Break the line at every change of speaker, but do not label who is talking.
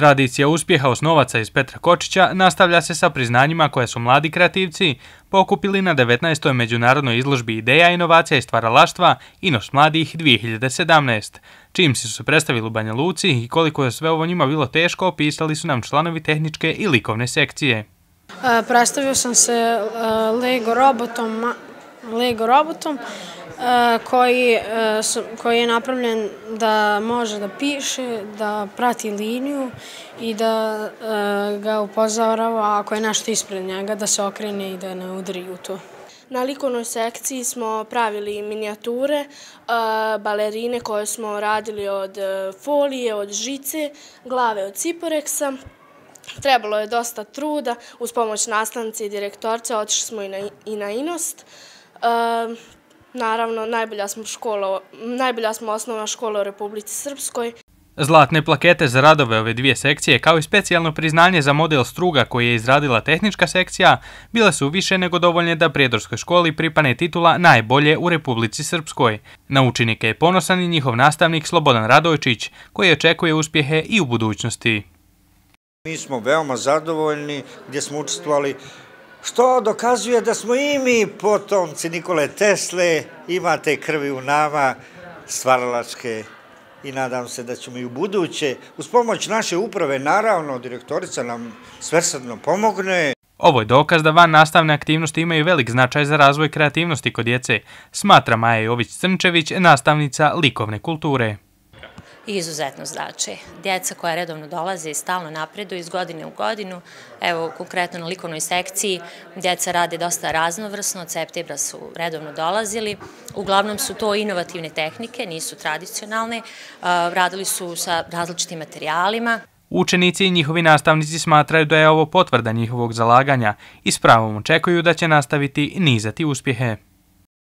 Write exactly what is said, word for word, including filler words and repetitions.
Tradicija uspjeha osnovaca iz Petra Kočića nastavlja se sa priznanjima koje su mladi kreativci pokupili na devetnaestoj međunarodnoj izložbi ideja, inovacija i stvaralaštva Inos mladih dvije hiljade sedamnaest. Čim su se predstavili u Banja Luci i koliko je sve ovo njima bilo teško, opisali su nam članovi tehničke i likovne sekcije.
Predstavio sam se Lego robotom, Lego robotom koji, koji je napravljen da može da piše, da prati liniju i da ga upozorava ako je nešto ispred njega, da se okrene i da ne udari u to.
Na likovnoj sekciji smo pravili minijature, balerine koje smo radili od folije, od žice, glave od ciporeksa. Trebalo je dosta truda, uz pomoć nastavnice i direktorce otišli smo i na, i na Inost. E, naravno, najbolja smo, škola, najbolja smo osnovna škola u Republici Srpskoj.
Zlatne plakete za radove ove dvije sekcije, kao i specijalno priznanje za model struga koji je izradila tehnička sekcija, bile su više nego dovoljne da Prijedorskoj školi pripane titula najbolje u Republici Srpskoj. Na učenike je ponosan i njihov nastavnik Slobodan Radojčić, koji očekuje uspjehe i u budućnosti.
Mi smo veoma zadovoljni gdje smo učestvovali, što dokazuje da smo i mi potomci Nikole Tesle, imate krvi u nama, stvaralačke, i nadam se da ćemo i u buduće, uz pomoć naše uprave, naravno, direktorica nam svesrdno pomogne.
Ovo je dokaz da van nastavne aktivnosti imaju velik značaj za razvoj kreativnosti kod djece, smatra Maja Jović-Crnčević, nastavnica likovne kulture.
Izuzetno znači. Djeca koja redovno dolaze i stalno napreduju iz godine u godinu. Evo, konkretno na likovnoj sekciji djeca rade dosta raznovrsno, od septembra su redovno dolazili. Uglavnom su to inovativne tehnike, nisu tradicionalne. Radili su sa različitim materijalima.
Učenici i njihovi nastavnici smatraju da je ovo potvrda njihovog zalaganja i s pravom očekuju da će nastaviti nizati uspjehe.